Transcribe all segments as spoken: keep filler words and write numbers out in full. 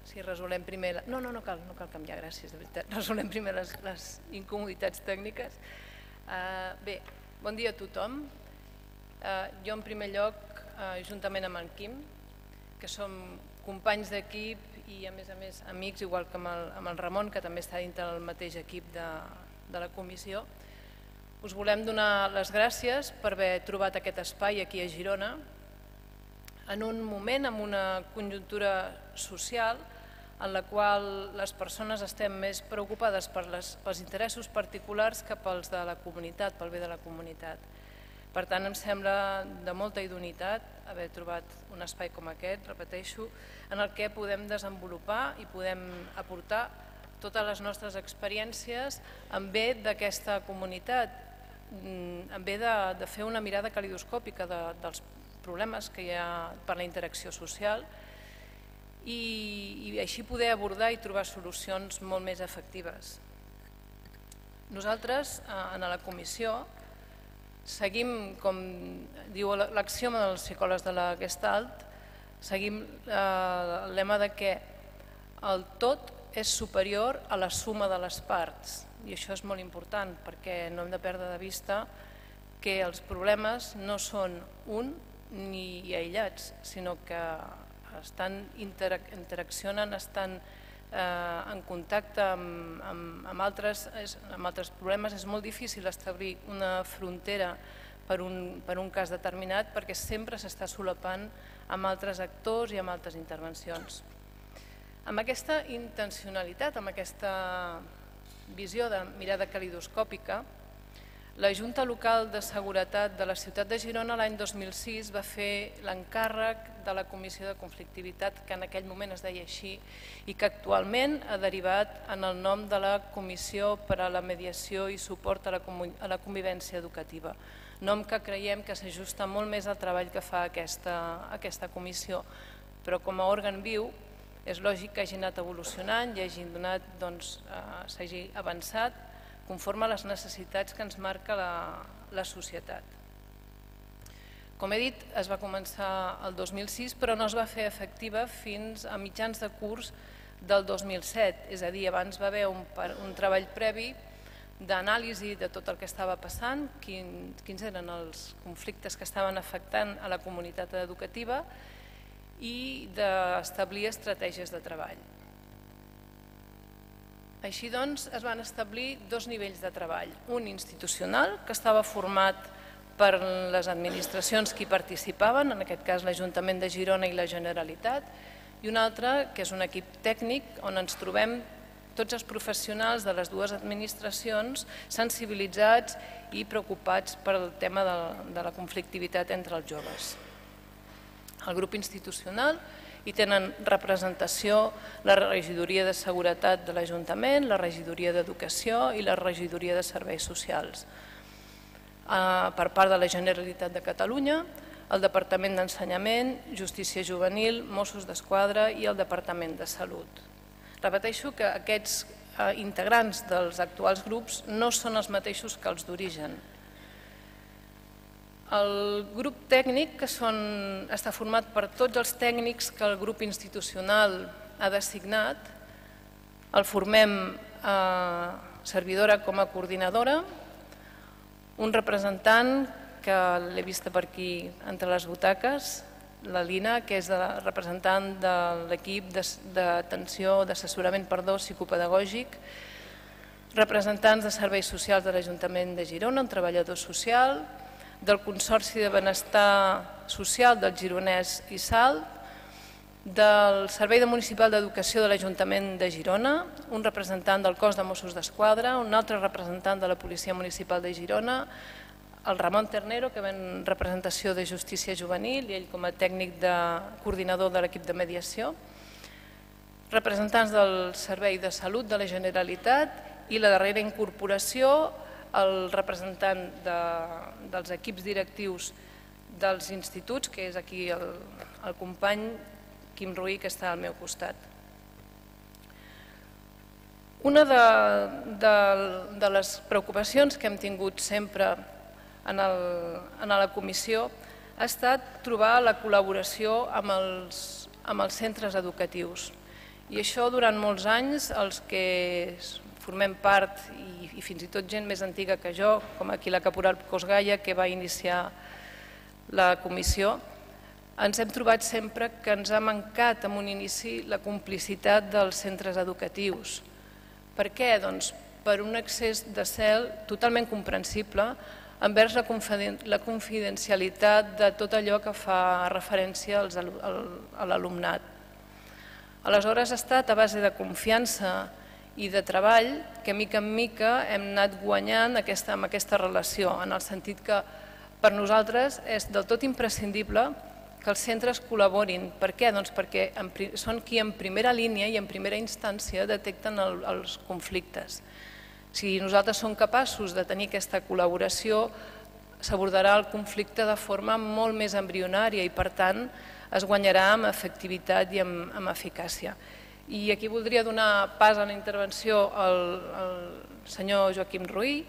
si resolem primer... No, no, no cal, no cal canviar, gràcies, de veritat. Resolem primer les, les incomoditats tècniques. Uh, bé, bon dia a tothom. Uh, jo, en primer lloc, uh, juntament amb en Quim, que som companys d'equip i, a més a més, amics, igual que amb el, amb el Ramon, que també està dintre del mateix equip de, de la comissió, us volem donar les gràcies per haver trobat aquest espai aquí a Girona, en un moment, amb una conjuntura social en la qual les persones estem més preocupades per les, pels interessos particulars que pels de la comunitat, pel bé de la comunitat. Per tant, em sembla de molta idoneïtat haver trobat un espai com aquest, repeteixo, en el que podem desenvolupar i podem aportar totes les nostres experiències en bé d'aquesta comunitat, en bé de, de fer una mirada calidoscòpica de, dels problemes que hi ha per la interacció social i, i així poder abordar i trobar solucions molt més efectives. Nosaltres, en la comissió, seguim, com diu l'axioma dels psicòlegs de la Gestalt, seguim el lema de que el tot és superior a la suma de les parts, i això és molt important perquè no hem de perdre de vista que els problemes no són un ni aïllats, sinó que estan interaccionen, estan en contacte amb, amb, amb, altres, amb altres problemes. És molt difícil establir una frontera per un, per un cas determinat perquè sempre s'està solapant amb altres actors i amb altres intervencions. Amb aquesta intencionalitat, amb aquesta visió de mirada calidoscòpica, la Junta Local de Seguretat de la ciutat de Girona l'any dos mil sis va fer l'encàrrec de la Comissió de Conflictivitat, que en aquell moment es deia així, i que actualment ha derivat en el nom de la Comissió per a la Mediació i Suport a la, a la Convivència Educativa, nom que creiem que s'ajusta molt més al treball que fa aquesta, aquesta comissió, però com a òrgan viu és lògic que hagi anat evolucionant i hagi donat, doncs, eh, s'hagi avançat conforme a les necessitats que ens marca la, la societat. Com he dit, es va començar el dos mil sis, però no es va fer efectiva fins a mitjans de curs del dos mil set, és a dir, abans va haver un, un treball previ d'anàlisi de tot el que estava passant, quin, quins eren els conflictes que estaven afectant a la comunitat educativa i d'establir estratègies de treball. Així doncs, es van establir dos nivells de treball, un institucional, que estava format per les administracions que hi participaven, en aquest cas l'Ajuntament de Girona i la Generalitat, i un altre, que és un equip tècnic, on ens trobem tots els professionals de les dues administracions sensibilitzats i preocupats pel tema de, de la conflictivitat entre els joves. El grup institucional hi tenen representació la Regidoria de Seguretat de l'Ajuntament, la Regidoria d'Educació i la Regidoria de Serveis Socials. Per part de la Generalitat de Catalunya, el Departament d'Ensenyament, Justícia Juvenil, Mossos d'Esquadra i el Departament de Salut. Repeteixo que aquests integrants dels actuals grups no són els mateixos que els d'origen. El grup tècnic, que són, està format per tots els tècnics que el grup institucional ha designat, el formem eh, servidora com a coordinadora, un representant que l'he vista per aquí entre les butaques, la Lina, que és la representant de l'equip d'atenció, d'assessorament psicopedagògic, representants de serveis socials de l'Ajuntament de Girona, un treballador social, del Consorci de Benestar Social del Gironès i Salt, del Servei Municipal d'Educació de l'Ajuntament de Girona, un representant del cos de Mossos d'Esquadra, un altre representant de la Policia Municipal de Girona, el Ramon Ternero, que ve en representació de Justícia Juvenil i ell com a tècnic de coordinador de l'equip de mediació, representants del Servei de Salut de la Generalitat i la darrera incorporació, el representant de, dels equips directius dels instituts, que és aquí el, el company Quim Ruí, que està al meu costat. Una de, de, de les preocupacions que hem tingut sempre en, el, en la comissió ha estat trobar la col·laboració amb els, amb els centres educatius. I això durant molts anys, els que formem part, i, i fins i tot gent més antiga que jo, com aquí la caporal Cosgaia, que va iniciar la comissió, ens hem trobat sempre que ens ha mancat en un inici la complicitat dels centres educatius. Per què? Doncs per un excés de zel totalment comprensible envers la confidencialitat de tot allò que fa referència a l'alumnat. Aleshores ha estat a base de confiança i de treball que mica en mica hem anat guanyant amb aquesta relació, en el sentit que per nosaltres és del tot imprescindible que els centres col·laborin. Per què? Doncs perquè són qui en primera línia i en primera instància detecten els conflictes. Si nosaltres som capaços de tenir aquesta col·laboració, s'abordarà el conflicte de forma molt més embrionària i, per tant, es guanyarà amb efectivitat i amb eficàcia. I aquí voldria donar pas a la intervenció al senyor Joaquim Ruí,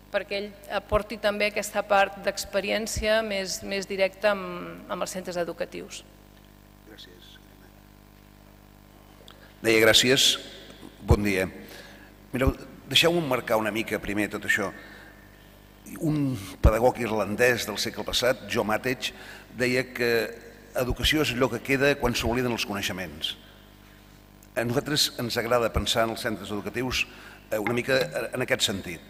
perquè ell aporti també aquesta part d'experiència més directa amb els centres educatius. Gràcies. Deia gràcies. Bon dia. Mireu, deixeu-me marcar una mica primer tot això. Un pedagog irlandès del segle passat, Joe Matej, deia que educació és allò que queda quan s'obliden els coneixements. A nosaltres ens agrada pensar en els centres educatius una mica en aquest sentit.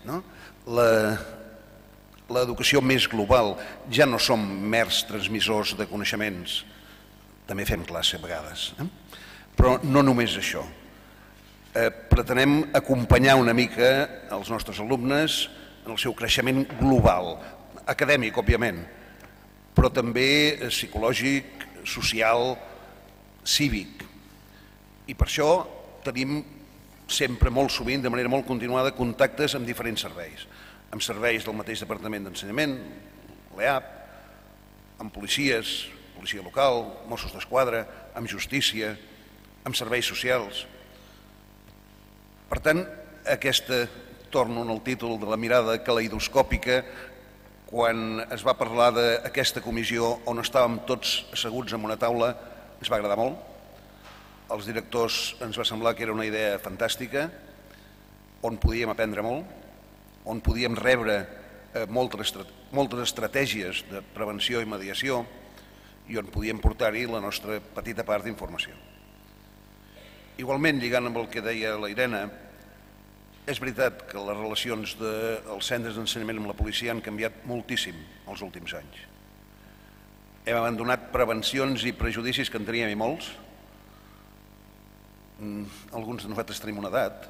L'educació més global, ja no som mers transmissors de coneixements, també fem classe a vegades, però no només això. Pretenem acompanyar una mica els nostres alumnes en el seu creixement global, acadèmic, òbviament, però també psicològic, social, cívic. I per això tenim sempre, molt sovint, de manera molt continuada, contactes amb diferents serveis. Amb serveis del mateix Departament d'Ensenyament, l'E A P, amb policies, policia local, Mossos d'Esquadra, amb justícia, amb serveis socials. Per tant, aquesta, torno en el títol de la mirada caleidoscòpica, quan es va parlar d'aquesta comissió on estàvem tots asseguts en una taula, ens va agradar molt. Als directors ens va semblar que era una idea fantàstica, on podíem aprendre molt, on podíem rebre moltes estratègies de prevenció i mediació i on podíem portar-hi la nostra petita part d'informació. Igualment, lligant amb el que deia la Irene, és veritat que les relacions dels centres d'ensenyament amb la policia han canviat moltíssim els últims anys. Hem abandonat prevencions i prejudicis que en teníem i molts. Alguns de nosaltres tenim una edat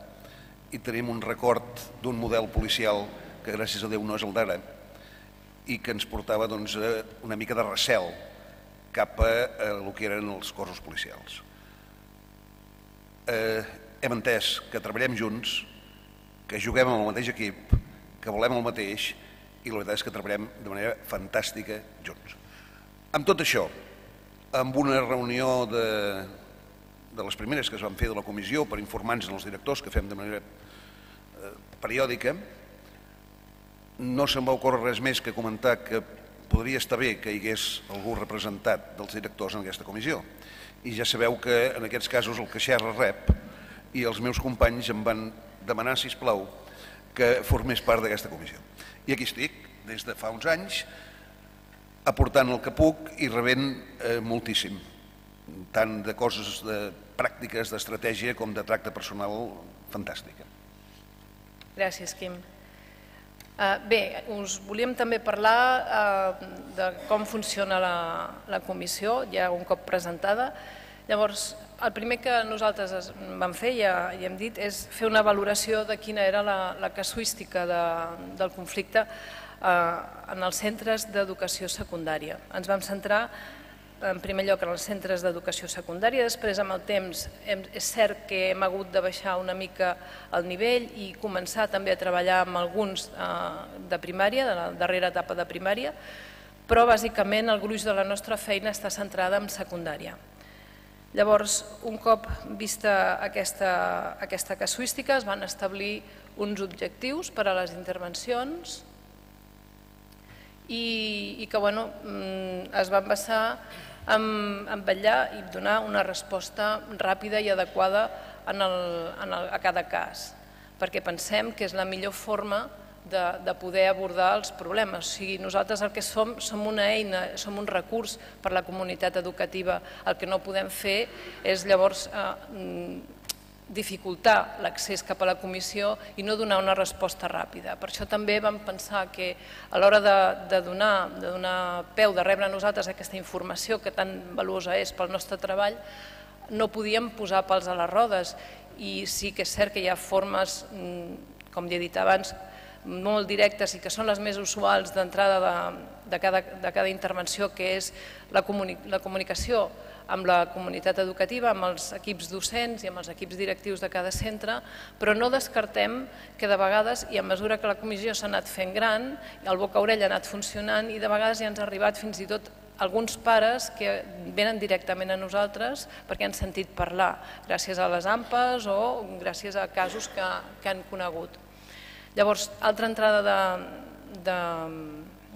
i tenim un record d'un model policial que gràcies a Déu no és el d'ara i que ens portava una mica de recel cap a el que eren els cossos policials. Hem entès que treballem junts, que juguem amb el mateix equip, que volem el mateix i la veritat és que treballem de manera fantàstica junts. Amb tot això, amb una reunió de de les primeres que es van fer de la comissió per informar-nos als directors, que fem de manera periòdica, no se'm va ocórrer res més que comentar que podria estar bé que hi hagués algú representat dels directors en aquesta comissió. I ja sabeu que en aquests casos el que xerra rep i els meus companys em van demanar, sisplau, que formés part d'aquesta comissió. I aquí estic, des de fa uns anys, aportant el que puc i rebent moltíssim, tant de coses pràctiques, d'estratègia, com de tracte personal fantàstica. Gràcies, Quim. Bé, us volíem també parlar de com funciona la comissió, ja un cop presentada. Llavors, el primer que nosaltres vam fer, ja hem dit, és fer una valoració de quina era la casuística del conflicte en els centres d'educació secundària. Ens vam centrar en primer lloc en els centres d'educació secundària, després amb el temps és cert que hem hagut de baixar una mica el nivell i començar també a treballar amb alguns de primària, de la darrera etapa de primària, però bàsicament el gruix de la nostra feina està centrada en secundària. Llavors, un cop vista aquesta casuística, es van establir uns objectius per a les intervencions i que es van basar en vetllar i donar una resposta ràpida i adequada a cada cas, perquè pensem que és la millor forma de poder abordar els problemes. O sigui, nosaltres el que som, som una eina, som un recurs per a la comunitat educativa. El que no podem fer és llavors dificultar l'accés cap a la comissió i no donar una resposta ràpida. Per això també vam pensar que a l'hora de donar peu, de rebre a nosaltres aquesta informació que tan valuosa és pel nostre treball, no podíem posar pals a les rodes. I sí que és cert que hi ha formes, com ja he dit abans, molt directes i que són les més usuals d'entrada de cada intervenció, que és la comunicació amb la comunitat educativa, amb els equips docents i amb els equips directius de cada centre, però no descartem que de vegades, i a mesura que la comissió s'ha anat fent gran, el boca-orella ha anat funcionant i de vegades ja ens ha arribat fins i tot alguns pares que venen directament a nosaltres perquè han sentit parlar, gràcies a les A M P Es o gràcies a casos que han conegut. Llavors, altra entrada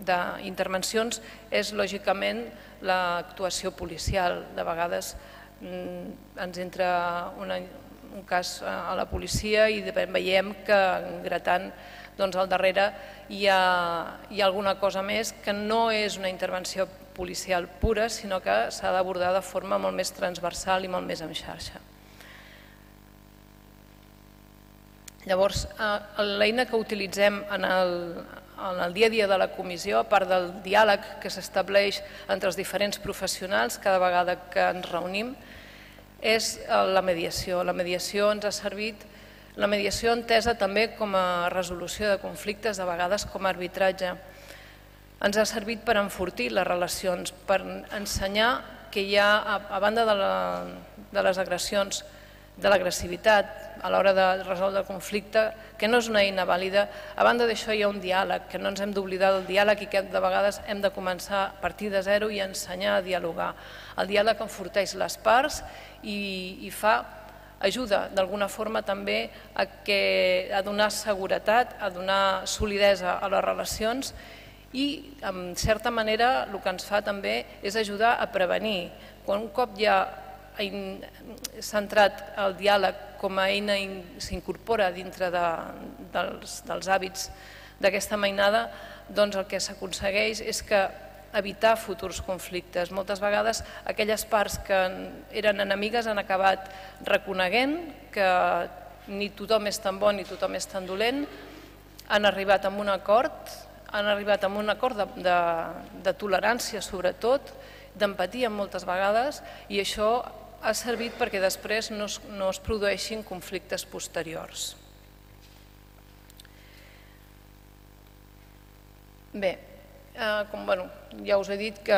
d'intervencions és, lògicament, l'actuació policial. De vegades ens entra un cas a la policia i veiem que gratant al darrere hi ha alguna cosa més que no és una intervenció policial pura, sinó que s'ha d'abordar de forma molt més transversal i molt més en xarxa. Llavors, l'eina que utilitzem en el dia a dia de la comissió, a part del diàleg que s'estableix entre els diferents professionals cada vegada que ens reunim, és la mediació. La mediació ens ha servit, la mediació entesa també com a resolució de conflictes, de vegades com a arbitratge. Ens ha servit per enfortir les relacions, per ensenyar que hi ha, a banda de les agressions, de l'agressivitat a l'hora de resoldre el conflicte, que no és una eina vàlida. A banda d'això hi ha un diàleg, que no ens hem d'oblidar del diàleg i que de vegades hem de començar a partir de zero i ensenyar a dialogar. El diàleg enforteix les parts i fa, ajuda d'alguna forma també a donar seguretat, a donar solidesa a les relacions i, en certa manera, el que ens fa també és ajudar a prevenir. Quan un cop ja s'ha entrat el diàleg com a eina i s'incorpora dintre dels hàbits d'aquesta mainada, doncs el que s'aconsegueix és que evitar futurs conflictes. Moltes vegades aquelles parts que eren enemigues han acabat reconeguent que ni tothom és tan bo ni tothom és tan dolent, han arribat a un acord, han arribat a un acord de tolerància sobretot, d'empatia moltes vegades, i això ha servit perquè després no es produeixin conflictes posteriors. Bé, ja us he dit que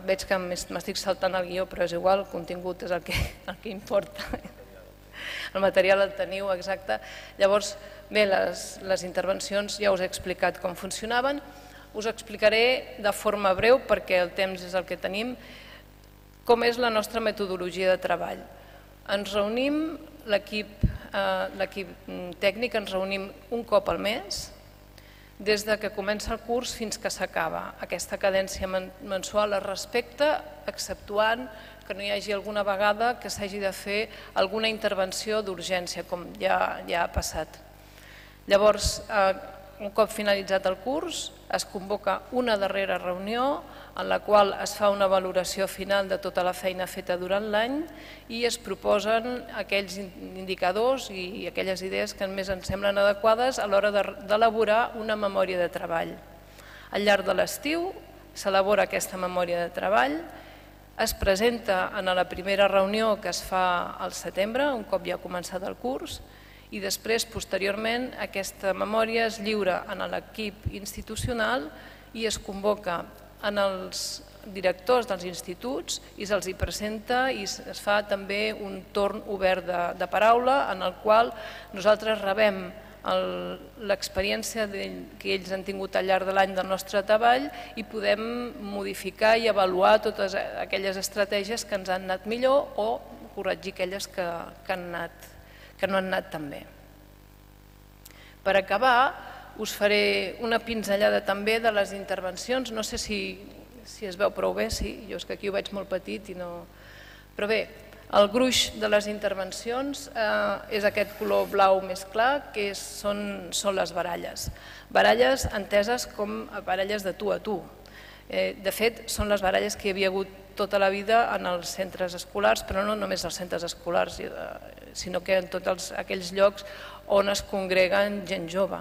veig que m'estic saltant el guió, però és igual, el contingut és el que importa. El material el teniu, exacte. Llavors, bé, les intervencions ja us he explicat com funcionaven. Us explicaré de forma breu, perquè el temps és el que tenim, com és la nostra metodologia de treball. Ens reunim, l'equip tècnic ens reunim un cop al mes, des que comença el curs fins que s'acaba. Aquesta cadència mensual es respecta, exceptuant que no hi hagi alguna vegada que s'hagi de fer alguna intervenció d'urgència, com ja ha passat. Llavors, un cop finalitzat el curs, es convoca una darrera reunió en la qual es fa una valoració final de tota la feina feta durant l'any i es proposen aquells indicadors i aquelles idees que més ens semblen adequades a l'hora d'elaborar una memòria de treball. Al llarg de l'estiu s'elabora aquesta memòria de treball, es presenta en la primera reunió que es fa al setembre, un cop ja ha començat el curs, i després, posteriorment, aquesta memòria es lliura a l'equip institucional i es convoca en els directors dels instituts i se'ls presenta i es fa també un torn obert de paraula en el qual nosaltres rebem l'experiència que ells han tingut al llarg de l'any del nostre treball i podem modificar i avaluar totes aquelles estratègies que ens han anat millor o corregir aquelles que han anat que no han anat tan bé. Per acabar, us faré una pinzellada també de les intervencions. No sé si si es veu prou bé, sí, jo és que aquí ho veig molt petit i no... Però bé, el gruix de les intervencions eh, és aquest color blau més clar, que és, són, són les baralles. Baralles enteses com a baralles de tu a tu. Eh, de fet, són les baralles que hi havia hagut tota la vida en els centres escolars, però no només als centres escolars, sinó que en tots els, aquells llocs on es congreguen gent jove.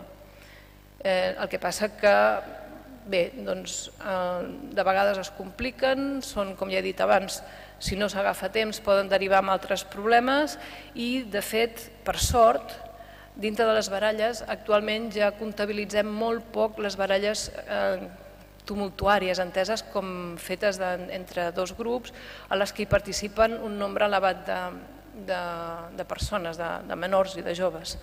Eh, el que passa que, bé, doncs, eh, de vegades es compliquen, són, com ja he dit abans, si no s'agafa temps poden derivar en altres problemes i, de fet, per sort, dintre de les baralles, actualment ja comptabilitzem molt poc les baralles eh, tumultuàries, enteses com fetes de, entre dos grups a les que hi participen un nombre elevat de, de, de persones, de, de menors i de joves.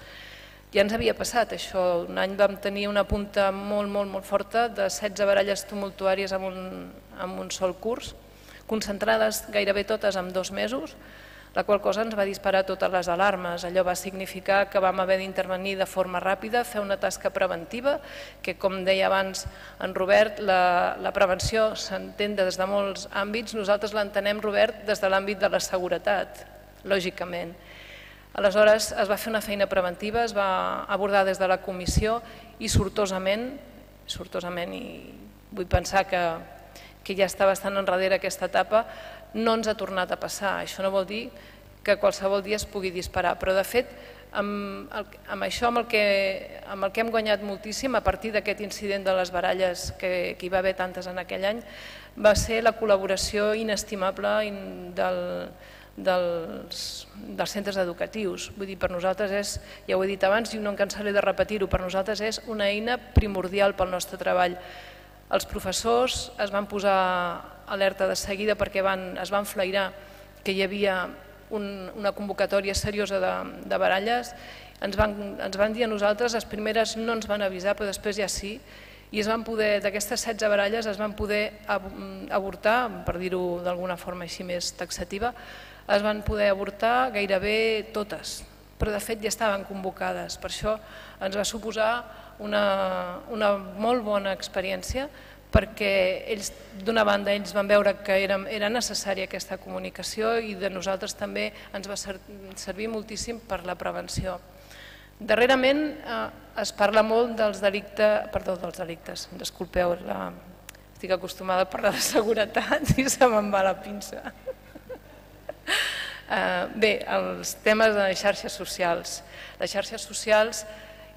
Ja ens havia passat això, un any vam tenir una punta molt, molt, molt forta de setze baralles tumultuàries en un, en un sol curs, concentrades gairebé totes en dos mesos, la qual cosa ens va disparar totes les alarmes. Allò va significar que vam haver d'intervenir de forma ràpida, fer una tasca preventiva, que com deia abans en Robert, la, la prevenció s'entén des de molts àmbits, nosaltres l'entenem, Robert, des de l'àmbit de la seguretat, lògicament. Aleshores es va fer una feina preventiva, es va abordar des de la comissió i sortosament, sortosament i vull pensar que, que ja està bastant enrere aquesta etapa, no ens ha tornat a passar. Això no vol dir que qualsevol dia es pugui disparar, però de fet amb, el, amb això amb el, que, amb el que hem guanyat moltíssim a partir d'aquest incident de les baralles que, que hi va haver tantes en aquell any va ser la col·laboració inestimable del, dels, dels centres educatius. Vull dir, per nosaltres és, ja ho he dit abans i no em cansaré de repetir-ho, per nosaltres és una eina primordial pel nostre treball. Els professors es van posar alerta de seguida perquè van, es van flairar que hi havia un, una convocatòria seriosa de, de baralles. Ens van, ens van dir a nosaltres, les primeres no ens van avisar, però després ja sí, i es van poder, d'aquestes setze baralles es van poder avortar, per dir-ho d'alguna forma així més taxativa, es van poder avortar gairebé totes, però de fet ja estaven convocades. Per això ens va suposar una, una molt bona experiència, perquè ells, d'una banda, ells van veure que era, era necessària aquesta comunicació i de nosaltres també ens va servir moltíssim per la prevenció. Darrerament eh, es parla molt dels delictes, perdó, dels delictes, disculpeu, la, estic acostumada a parlar de seguretat i se me'n va la pinça. Eh, bé, els temes de xarxes socials. Les xarxes socials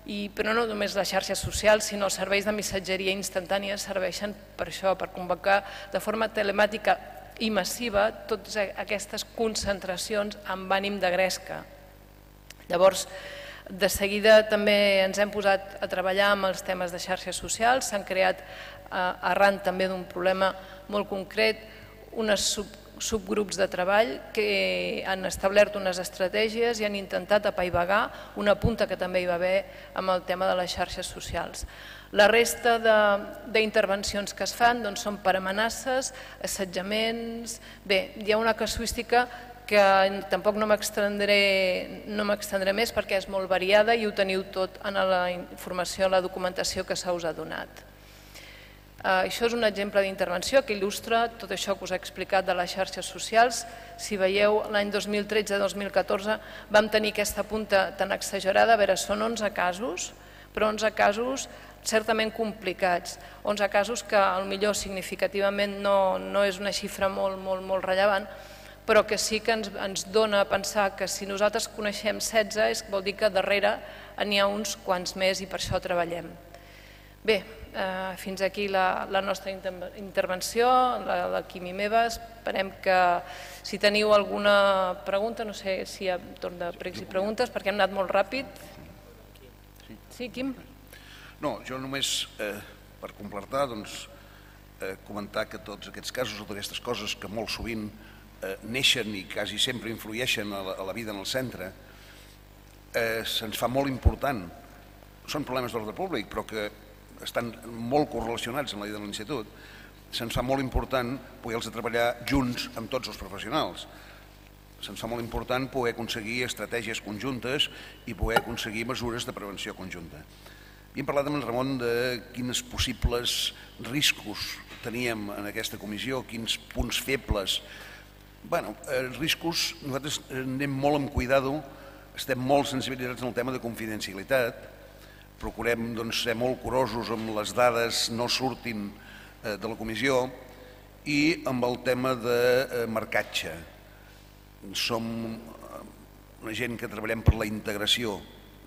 I, però no només les xarxes socials, sinó els serveis de missatgeria instantània serveixen per això, per convocar de forma telemàtica i massiva totes aquestes concentracions amb ànim de gresca. Llavors, de seguida també ens hem posat a treballar amb els temes de xarxes socials, s'han creat, arran també d'un problema molt concret, unes sub subgrups de treball que han establert unes estratègies i han intentat apaivagar una punta que també hi va haver amb el tema de les xarxes socials. La resta d'intervencions que es fan doncs, són per amenaces, assetjaments... Bé, hi ha una casuística que tampoc no m'extendré no m'extendré més perquè és molt variada i ho teniu tot en la informació, en la documentació que se us ha donat. Això és un exemple d'intervenció que il·lustra tot això que us he explicat de les xarxes socials. Si veieu, l'any dos mil tretze dos mil catorze vam tenir aquesta punta tan exagerada, a veure, són onze casos, però onze casos certament complicats, onze casos que potser significativament no, no és una xifra molt, molt, molt rellevant, però que sí que ens, ens dona a pensar que si nosaltres coneixem setze és, vol dir que darrere n'hi ha uns quants més i per això treballem. Bé, eh, fins aquí la, la nostra intervenció, la, la Quim i meva. Esperem que si teniu alguna pregunta, no sé si hi ha torn de pregs i preguntes, perquè hem anat molt ràpid. Sí, Quim? No, jo només, eh, per completar, doncs, eh, comentar que tots aquests casos, totes aquestes coses que molt sovint eh, neixen i quasi sempre influeixen a la, a la vida en el centre, eh, se'ns fa molt important. Són problemes d'ordre públic, però que estan molt correlacionats amb la vida de l'institut, se'ns fa molt important poder-los treballar junts amb tots els professionals. Se'ns fa molt important poder aconseguir estratègies conjuntes i poder aconseguir mesures de prevenció conjunta. Havíem parlat amb en Ramon de quins possibles riscos teníem en aquesta comissió, quins punts febles. Bueno, els riscos, nosaltres anem molt amb cuidado, estem molt sensibilitzats en el tema de confidencialitat, procurem ser molt curosos amb les dades no surtin de la comissió i amb el tema de marcatge. Som una gent que treballem per la integració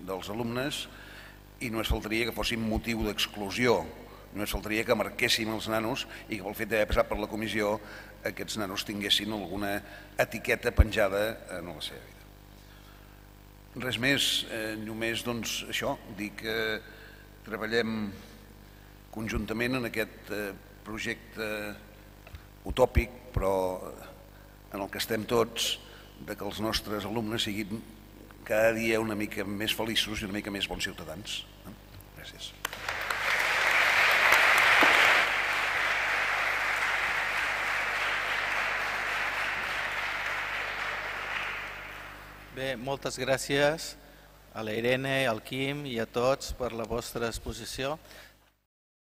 dels alumnes i no es faltaria que fóssim motiu d'exclusió, no es faltaria que marquéssim els nanos i que pel fet d'haver passat per la comissió aquests nanos tinguessin alguna etiqueta penjada en la seva vida. Res més, només doncs això, dir que treballem conjuntament en aquest projecte utòpic, però en el que estem tots, que els nostres alumnes siguin cada dia una mica més feliços i una mica més bons ciutadans. Gràcies. Bé, moltes gràcies a la Irene, al Quim i a tots per la vostra exposició.